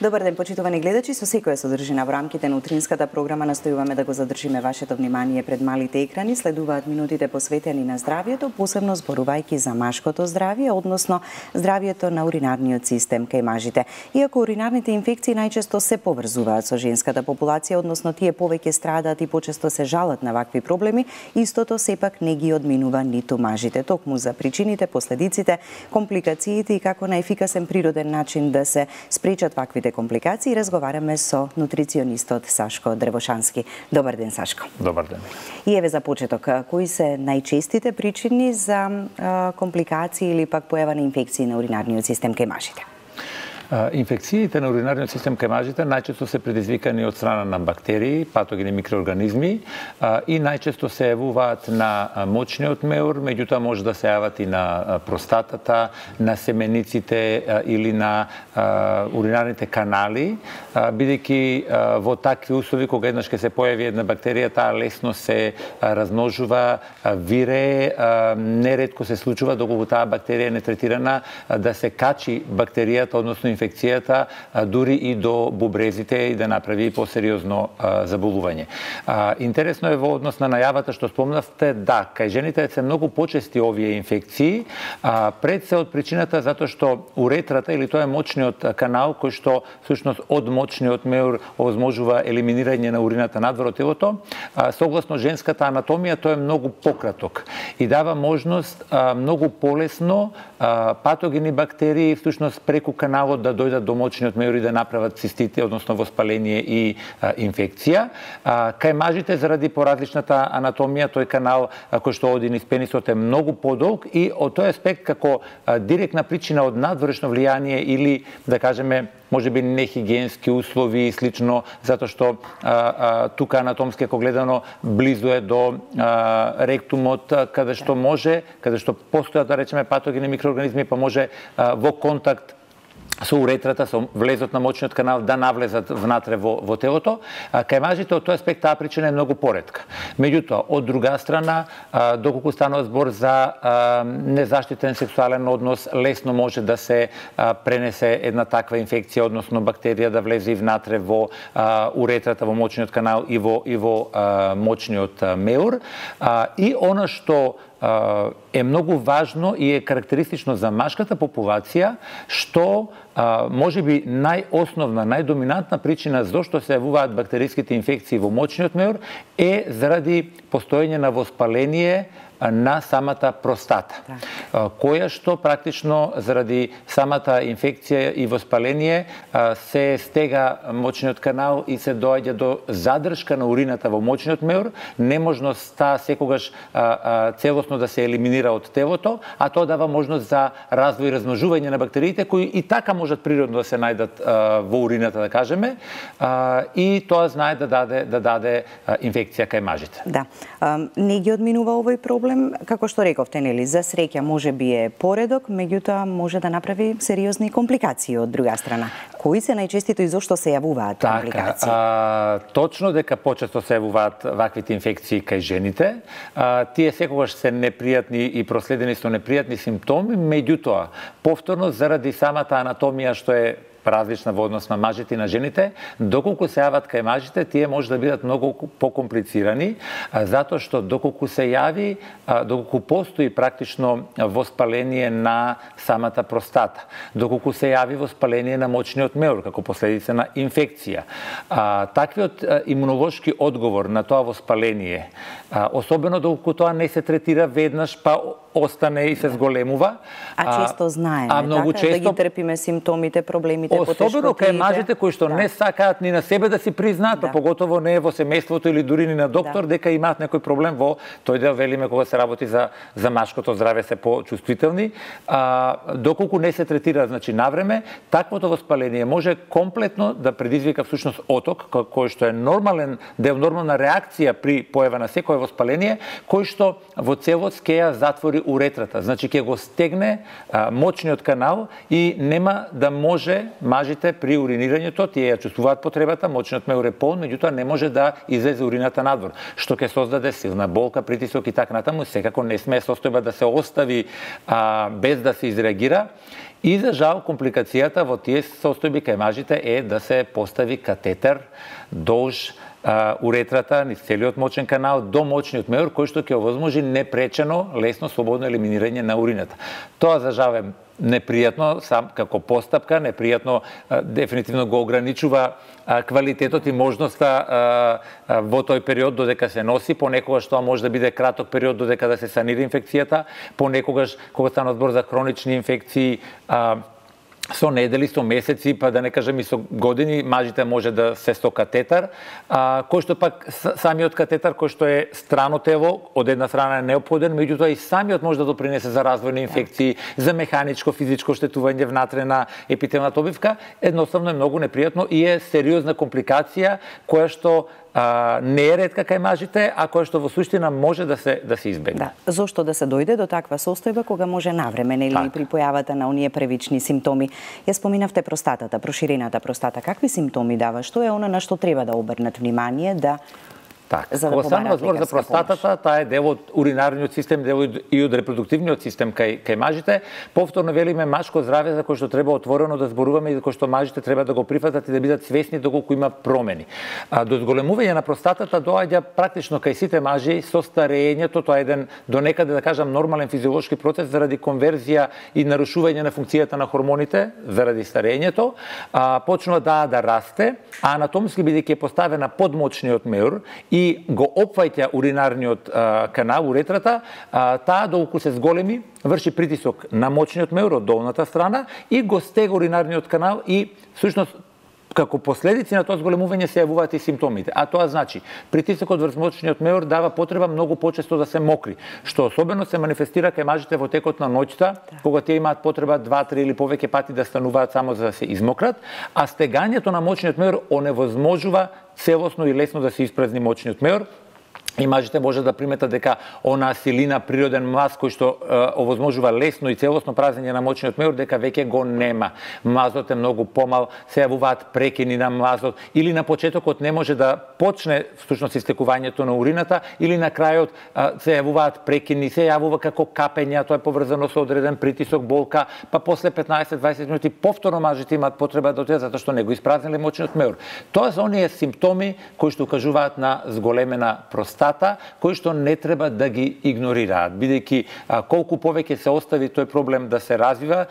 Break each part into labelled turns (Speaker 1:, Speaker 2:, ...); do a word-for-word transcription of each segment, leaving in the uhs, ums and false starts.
Speaker 1: Добар ден, почитувани гледачи, со секоја содржина во рамките на утринската програма настојуваме да го задржиме вашето внимание пред малите екрани. Следуваат минутите посветени на здравието, посебно зборувајќи за машкото здравје, односно здравието на уринарниот систем кај мажите. Иако уринарните инфекции најчесто се поврзуваат со женската популација, односно тие повеќе страдаат и почесто се жалат на вакви проблеми, истото сепак не ги одминува ниту мажите. Токму за причините, последиците, компликациите и како на ефикасен природен начин да се спречат ваквите компликации, разговараме со нутриционистот Сашко Древошански. Добар ден, Сашко.
Speaker 2: Добар ден.
Speaker 1: И еве за почеток, кои се најчестите причини за а, компликации или пак појава на инфекции на уринарниот систем кај мажите?
Speaker 2: Инфекциите на уринарниот систем кај мажите најчесто се предизвикани од страна на бактерии, патогени микроорганизми и најчесто се јавуваат на мочниот меур, меѓутоа може да се јават и на простатата, на семениците или на уринарните канали, бидејќи во такви услови кога еднаш ќе се појави една бактерија, таа лесно се размножува, вире, неретко се случува доколку таа бактерија не третирана да се качи бактеријата, односно инфекцијата дури и до бубрезите и да направи посериозно заболување. Интересно е во однос на најавата што спомнавте, да, кај жените се многу почести овие инфекции, пред се од причината затоа што уретрата или тоа е мочниот канал кој што всушност од мочниот меур овозможува елиминирање на урината надвор од телото, согласно женската анатомија тој е многу пократок и дава можност многу полесно патогени бактерии всушност преку каналот да дојдат до мочниот меур и да направат цистите, односно воспаление и а, инфекција. А, кај мажите, заради поразличната анатомија, тој канал а, кој што оди низ пенисот е многу подолг и од тој аспект како а, директна причина од надворешно влијание или, да кажеме, може би нехигиенски услови и слично, затоа што а, а, тука анатомски ако гледано близу е до а, ректумот, каде што може, каде што постојат, да речеме, патогени микроорганизми, па може а, во контакт со уретрата, со влезот на мочниот канал да навлезат внатре во, во телото. А, кај мажите од тој аспект таа причина е многу поретка. Меѓутоа, од друга страна, а, доколку станува збор за а, незаштитен сексуален однос, лесно може да се а, пренесе една таква инфекција, односно бактерија да влезе и внатре во а, уретрата, во мочниот канал и во, и во а, мочниот а, меур. А, и она што е многу важно и е карактеристично за машката популација, што може би најосновна, најдоминантна причина зошто се јавуваат бактериските инфекции во мочниот меур е заради постоење на воспаление на самата простата, да. Која што практично заради самата инфекција и воспаление се стега мочниот канал и се доаѓа до задршка на урината во мочниот меур, неможноста секогаш целосно да се елиминира од телото, а тоа дава можност за развој и размножување на бактериите кои и така можат природно да се најдат во урината, да кажеме, и тоа знае да даде да даде инфекција кај мажите.
Speaker 1: Да. Не ги одминува овој проблем. Како што рековте, нели, за среќа може би е поредок, меѓутоа може да направи сериозни компликации од друга страна. Кои се најчестито и зошто се јавуваат компликации?
Speaker 2: А, точно дека почесто се јавуваат ваквите инфекции кај жените. А, тие секогаш се непријатни и проследени со непријатни симптоми, меѓутоа повторно заради самата анатомија што е различна во однос на мажите и на жените, доколку се јават кај мажите, тие може да бидат многу покомплицирани, затоа што доколку се јави, доколку постои практично воспаление на самата простата, доколку се јави воспаление на мочниот меур како последица на инфекција, таквиот имунолошки одговор на тоа воспаление, особено доколку тоа не се третира веднаш, па остане и се зголемува.
Speaker 1: А често знаеме,
Speaker 2: а многу
Speaker 1: така,
Speaker 2: често,
Speaker 1: да ги трпиме симптомите, проблемите,
Speaker 2: особено кај мажите кои што да. не сакаат ни на себе да си признаат, да. поготово не во семејството или дури ни на доктор, да. дека имаат некој проблем во тој дел, велиме, кога се работи за, за машкото здраве, се почувствителни. А, доколку не се третира, значи, навреме, таквото воспаление може комплетно да предизвика всушност оток, кој што е нормален дел, нормална реакција при појава на секое воспаление, кој што во целост ќе ја затвори уретрата. Значи ќе го стегне а, мочниот канал и нема да може мажите при уринирањето, тие ја чувствуваат потребата, мочниот меур е полн, меѓутоа не може да излезе урината надвор, што ќе создаде силна болка, притисок и така натаму. Секако не смее состојба да се остави а, без да се изреагира. И за жал компликацијата во тие состојби кај мажите е да се постави катетер долж а, уретрата, низ целиот мочен канал до мочниот меур, кој што ќе овозможи непречено, лесно, слободно елиминирање на урината. Тоа за жал е непријатно, сам како постапка, непријатно, а, дефинитивно го ограничува а, квалитетот и можноста а, а, во тој период додека се носи, понекогаш тоа може да биде краток период додека да се санира инфекцијата, понекогаш кога стана збор за хронични инфекции, а, со недели, со месеци, па да не кажем и со години, мажите може да се со катетар, а, кој што пак самиот катетар, кој што е страно тево, од една страна е неопходен, меѓутоа и самиот може да допринесе за развој на инфекции, за механичко, физичко штетување внатре на епителната обивка, едноставно е многу непријатно и е сериозна компликација која што а, не е ретка кај мажите, а која што во суштина може да се да се избегне.
Speaker 1: Да. Зошто да се дојде до таква состојба кога може навреме, нели, так, при појавата на оние првични симптоми? Ја споминавте простатата, проширената простата. Какви симптоми дава? Што е она на што треба да обрнат внимание да
Speaker 2: Так, за да кога станува збор за простатата, таа е дел од уринарниот систем, дел и од репродуктивниот систем кај кај мажите. Повторно велиме машко здравје за кој што треба отворено да зборуваме и за кој што мажите треба да го прифатат и да бидат свесни доколку има промени. А до зголемување на простатата доаѓа практично кај сите мажи со старењето, тоа е еден до некаде да кажам нормален физиолошки процес заради конверзија и нарушување на функцијата на хормоните заради старењето, а почнува да да расте, а анатомски бидејќи е поставена под мочниот меур и го опфаќа уринарниот а, канал, уретрата, а, таа доколку се зголеми, врши притисок на мочниот меур од долната страна и го стега уринарниот канал и всушност како последици на тоа зголемување се јавуваат и симптомите. А тоа значи, притисокот врз мочниот меур дава потреба многу почесто да се мокри, што особено се манифестира кај мажите во текот на ноќта, кога тие имаат потреба два, три или повеќе пати да стануваат само за да се измократ, а стегањето на мочниот меур оневозможува целосно и лесно да се испразни мочниот меур. И мажите може да приметат дека онаа силина, природен маз кој што е, овозможува лесно и целосно празнење на мочниот меур, дека веќе го нема. Мазот е многу помал, се јавуваат прекини на мазот, или на почетокот не може да почне всушност истекувањето на урината, или на крајот е, се јавуваат прекини, се јавува како капења, тоа е поврзано со одреден притисок, болка, па после петнаесет до дваесет минути повторно мажите имаат потреба да отидат затоа што не го испразниле мочниот меур. Тоа се оние симптоми кои што укажуваат на зголемена простата, кои што не треба да ги игнорираат, бидејќи колку повеќе се остави тој проблем да се развива,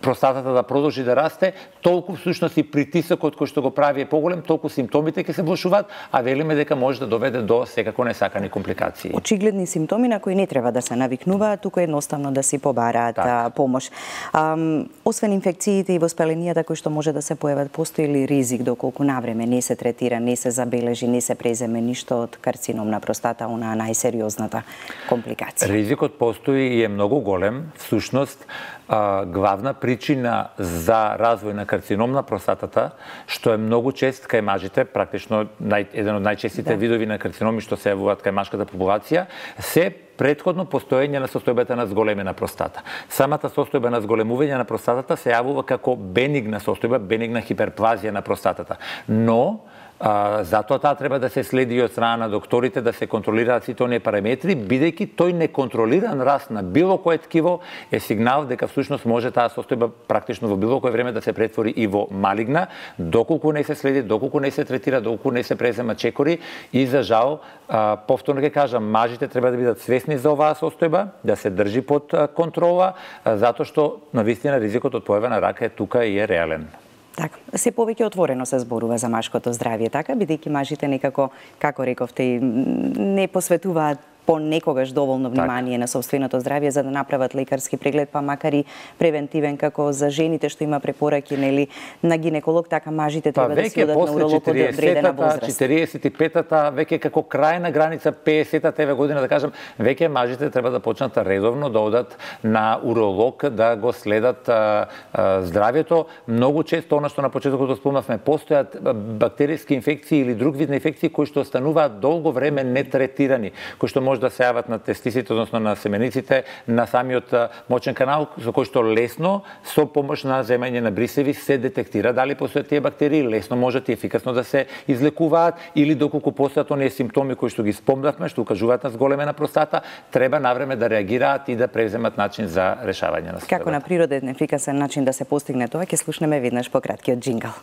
Speaker 2: простатата да продолжи да расте, толку всушност и притисокот кој што го прави е поголем, толку симптомите ќе се влошуваат, а велиме дека може да доведе до секако несакани компликации.
Speaker 1: Очигледни симптоми на кои не треба да се навикнуваат, туку едноставно да си побараат так. помош. Ам, освен инфекциите и воспаленијата кои што може да се појават, постои ли ризик доколку навреме не се третира, не се забележи, не се преземе ништо од карцином на простата, онаа најсериозната компликација?
Speaker 2: Ризикот постои и е многу голем. Всушност, а, главна причина за развој на карцином на простатата, што е многу чест кај мажите, практично нај, еден од најчестите да. видови на карциноми што се јавуваат кај машката популација, се претходно постоење на состојбата на зголемена простата. Самата состојба на зголемување на простатата се јавува како бенигна состојба, бенигна хиперплазија на простатата. Но А, затоа таа треба да се следи од страна на докторите, да се контролираат сите оние параметри, бидејќи тој неконтролиран раст на било кое ткиво е сигнал дека всушност може таа состојба практично во било кое време да се претвори и во малигна, доколку не се следи, доколку не се третира, доколку не се презема чекори и за жал, а, повторно ќе кажам, мажите треба да бидат свесни за оваа состојба, да се држи под контрола, а, затоа што навистина ризикот од појава на рака е тука и е реален.
Speaker 1: Така, се повеќе отворено се зборува за машкото здравје, така, бидејќи мажите некако, како рековте, не посветуваат понекогаш доволно внимание так. на собственото здравје за да направат лекарски преглед, па макар и превентивен како за жените што има препораки, нели, на гинеколог, така мажите треба
Speaker 2: па,
Speaker 1: да се одат на уролог од одредена возраст.
Speaker 2: четириесет и петата, веќе како крајна граница пеесетата еве година, да кажам, веќе мажите треба да почнат редовно да одат на уролог, да го следат а, а, здравјето. Многу често, она што на почетокот спомнавме, постојат бактериски инфекции или друг вид на инфекции кои што остануваат долго време нетретирани, кои што може може да се јават на тестисите, односно на семениците, на самиот мочен канал, со кој што лесно, со помош на земање на брисеви, се детектира дали постојат тие бактерии, лесно можат и ефикасно да се излекуваат, или доколку постојат оние симптоми кои што ги спомнавме, што укажуваат на зголемена простата, треба навреме да реагираат и да превземат начин за решавање на
Speaker 1: Како на природен ефикасен начин да се постигне тоа, ќе слушнеме веднаш по краткиот джингл.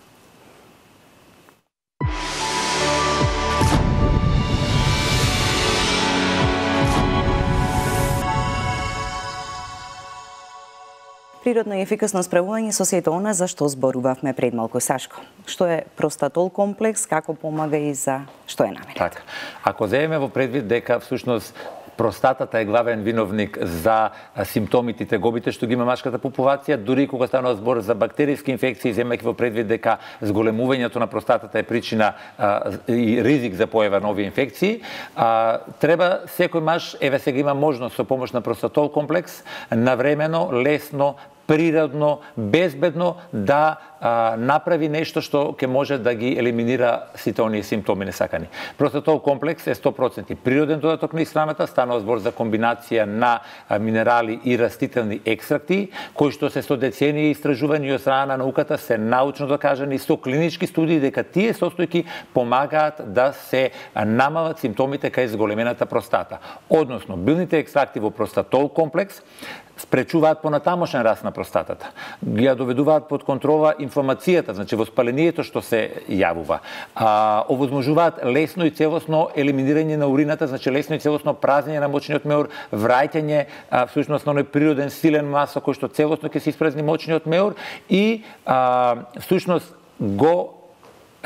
Speaker 1: Природно и ефикасно справување со сето она за што зборувавме пред малку, Сашко. Што е простатол комплекс, како помага и за што е наменет?
Speaker 2: Така. Ако земеме во предвид дека всушност простатата е главен виновник за симптомите и тегобите што ги има машката популација, дури кога станува збор за бактериски инфекции, земајќи во предвид дека зголемувањето на простатата е причина а, и ризик за појава на овие инфекции, а, треба секој маж, еве сега има можност со помош на простатол комплекс, навремено, лесно, природно, безбедно да а, направи нешто што ќе може да ги елиминира сите оние симптоми несакани. Простатол комплекс е сто проценти природен додаток на исхраната, станува збор за комбинација на а, минерали и растителни екстракти, кои што се со децении истражувања од страна на науката се научно докажани со клинички студии дека тие состојки помагаат да се намалат симптомите кај зголемената простата. Односно, билните екстракти во простатол комплекс спречуваат понатамошен раст на простатата. Ги ја доведуваат под контрола инфламацијата, значи воспалението што се јавува. А, овозможуваат лесно и целосно елиминирање на урината, значи лесно и целосно празнење на мочниот меур, враќање а, всушност на оној природен силен маса кој што целосно ќе се испразни мочниот меур и а, всушност го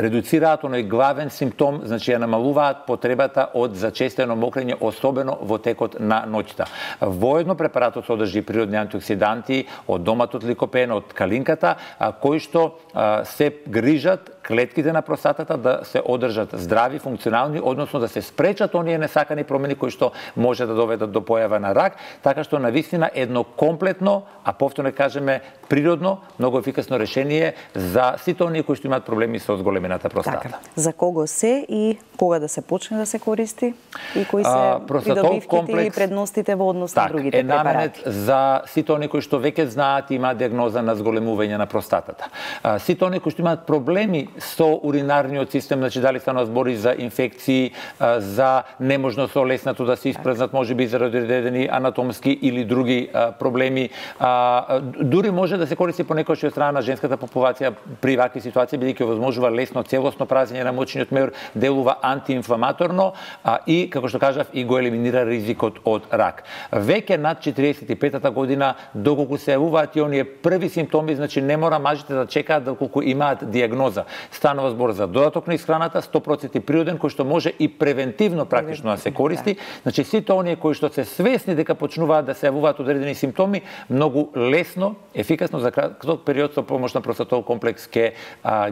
Speaker 2: редуцираат оној главен симптом, значи ја намалуваат потребата од зачестено мокрење, особено во текот на ноќта. Воедно препаратот содржи природни антиоксиданти од доматот ликопен, од калинката, а, кои што а, се грижат клетките на простатата да се одржат здрави, функционални, односно да се спречат оние несакани промени кои што може да доведат до појава на рак, така што навистина едно комплетно, а повторно кажеме природно, многу ефикасно решение за сите оние кои што имаат проблеми со зголемената простата.
Speaker 1: Така. За кого се и кога да се почне да се користи и кои се
Speaker 2: а,
Speaker 1: придобивките
Speaker 2: комплекс,
Speaker 1: или предностите во однос на
Speaker 2: так,
Speaker 1: другите
Speaker 2: е
Speaker 1: препарати?
Speaker 2: наменет за сите оние кои што веќе знаат и имаат диагноза на зголемување на простатата. А, сите оние кои што имаат проблеми со уринарниот систем, значи дали станува збори за инфекции, а, за неможност со леснато да се испразнат, можеби заради одредени анатомски или други а, проблеми. А, дури може да се користи понекогаш од страна на женската популација при вакви ситуации, бидејќи овозможува лесно целосно празнење на мочниот меур, делува антиинфламаторно а, и, како што кажав, и го елиминира ризикот од рак. Веќе над четириесет и петата година, доколку се јавуваат и оние први симптоми, значи не мора мажите да чекаат доколку имаат диагноза. Станува збор за додаток на исхраната, сто проценти природен, кој што може и превентивно практично да се користи. Значи сите оние кои што се свесни дека почнуваат да се јавуваат одредени симптоми, многу лесно, ефикасно за краток период со помош на простатол комплекс ќе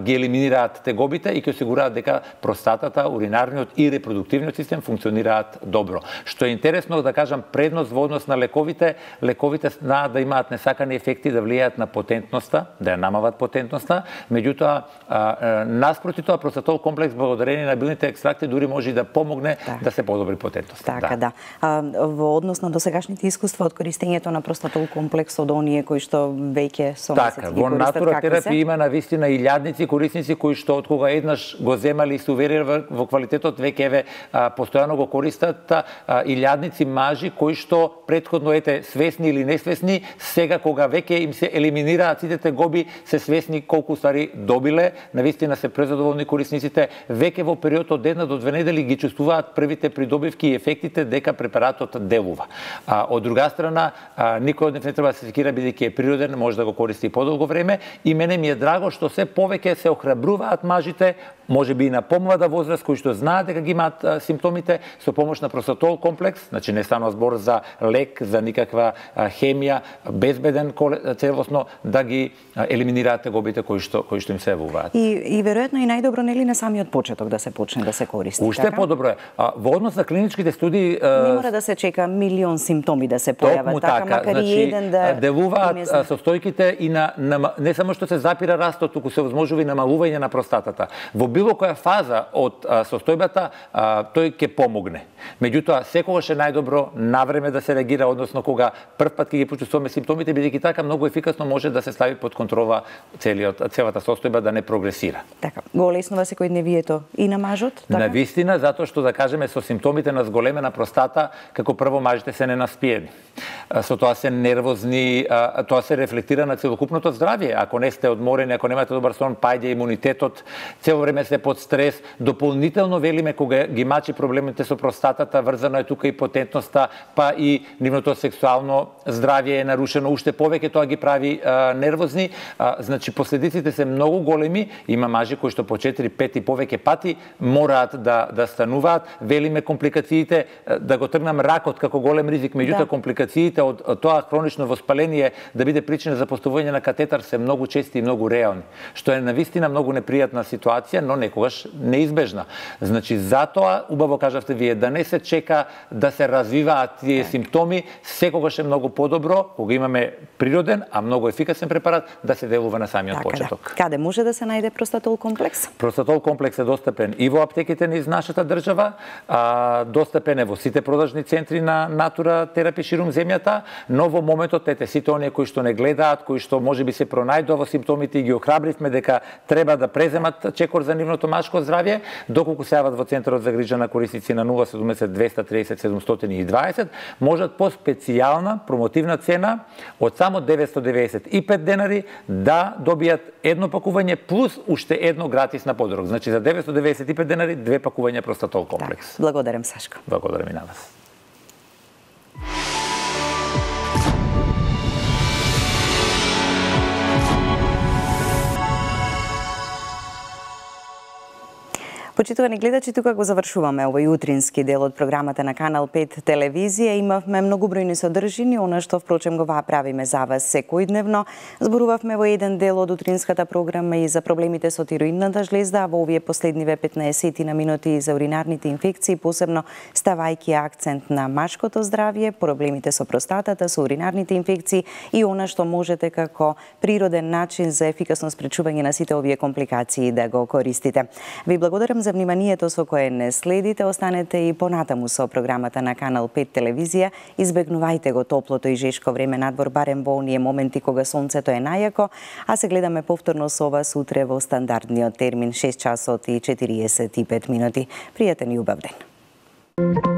Speaker 2: ги елиминираат тегобите и ќе осигураат дека простатата, уринарниот и репродуктивниот систем функционираат добро. Што е интересно да кажам, предност во однос на лековите, лековите знаат да имаат несакани ефекти, да влијаат на потентноста, да ја намалат потентноста, меѓутоа наспроти тоа простатол комплекс благодарение на билните екстракти дури може и да помогне так. да се подобри потентноста.
Speaker 1: Така, да. да. А, во однос на досегашните искуства од користењето на простатол комплекс од оние кои што веќе со месеци
Speaker 2: така,
Speaker 1: ги
Speaker 2: во натура терапија има навистина и илјадници корисници кои што од кога еднаш го земали и се увериле во квалитетот, веќе еве постојано го користат, а, илјадници мажи кои што претходно ете свесни или несвесни, сега кога веќе им се елиминираат сите тегоби, се свесни колку стари добиле, навистина се презадоволни корисниците, веќе во период од една до две недели ги чувствуваат првите придобивки и ефектите дека препаратот делува. А, од друга страна, а, никој од нив не треба да се секира бидејќи е природен, може да го користи подолго време и мене ми е драго што се повеќе се охрабруваат мажите, можеби и на помлада возраст, кои што знаат дека ги имаат а, симптомите, со помош на простатол комплекс, значи не станува збор за лек, за никаква а, хемија, безбеден целосно да ги а, елиминираат тегобите кои што кои што им се јавуваат.
Speaker 1: И и веројатно и најдобро нели на самиот почеток да се почне да се користи.
Speaker 2: Уште
Speaker 1: така?
Speaker 2: подобро е. А, во однос на клиничките студии
Speaker 1: не мора да се чека милион симптоми да се појават, така,
Speaker 2: така,
Speaker 1: макар
Speaker 2: значи,
Speaker 1: и еден да
Speaker 2: делуваат состојките и на, на не само што се запира растот, туку се возможува и намалување на простатата. Во било која фаза од а, состојбата а, тој ќе помогне. Меѓутоа, секогаш е најдобро навреме да се реагира, односно кога прв пат ќе ги почувствуваме симптомите, бидејќи така многу ефикасно може да се стави под контрола целиот целата состојба да не прогресира. Така,
Speaker 1: го олеснува секојдневието и на мажот, така?
Speaker 2: На вистина, затоа што да кажеме со симптомите на зголемена простата, како прво мажите се ненаспиени. Со тоа се нервозни, тоа се рефлектира на целокупното здравје. Ако не сте одморени, ако немате добар сон, паѓа имунитетот, цело време сте под стрес. Дополнително велиме кога ги мачи проблемите со простатата, врзано е тука и потентноста, па и нивното сексуално здравје е нарушено, уште повеќе тоа ги прави а, нервозни. А, значи последиците се многу големи, има мажи кои што по четири, пет и повеќе пати мораат да да стануваат. Велиме компликациите, да го тргнам ракот како голем ризик, меѓутоа да. Компликациите од тоа хронично воспаление да биде причина за поставување на катетар се многу чести и многу реални, што е навистина многу непријатна ситуација, но некогаш неизбежна. Значи затоа убаво кажавте вие да не се чека да се развиваат тие симптоми, секогаш е многу подобро кога имаме природен, а многу ефикасен препарат да се делува на самиот
Speaker 1: така,
Speaker 2: почеток.
Speaker 1: Да. Каде може да се најде простатол комплекс?
Speaker 2: Простатол комплекс е достапен и во аптеките низ нашата држава, а, достапен е во сите продажни центри на Натура терапи ширум земјата, но во моментот ете сите оние кои што не гледаат, кои што можеби се пронајдува во симптомите и ги охрабривме дека треба да преземат чекор за нивното машко здравје, доколку се јават во центарот за грижа на корисници на нула седумдесет двеста триесет седумстотини и дваесет, можат по специјална промотивна цена од само деветстотини деведесет и пет денари да добијат едно пакување плюс уште едно гратис на подарок. Значи за деветстотини деведесет и пет денари две пакувања простатол комплекс.
Speaker 1: Так, благодарам Сашко.
Speaker 2: Благодарам и на вас.
Speaker 1: Почитувани гледачи, тука го завршуваме овој утрински дел од програмата на Канал пет телевизија. Имавме многобројни содржини, она што впрочем го правиме за вас секојдневно. Зборувавме во еден дел од утринската програма и за проблемите со тироидната жлезда, а во овие последниве петнаесет на минути за уринарните инфекции, посебно ставајќи акцент на машкото здравје, проблемите со простатата, со уринарните инфекции и она што можете како природен начин за ефикасно спречување на сите овие компликации да го користите. Ви благодарам за вниманието со кое не следите. Останете и понатаму со програмата на Канал пет телевизија. Избегнувајте го топлото и жешко време надвор, барем во оние моменти кога сонцето е најако, а се гледаме повторно со вас утре во стандардниот термин шест часот и четириесет и пет минути. Пријатен и убав ден.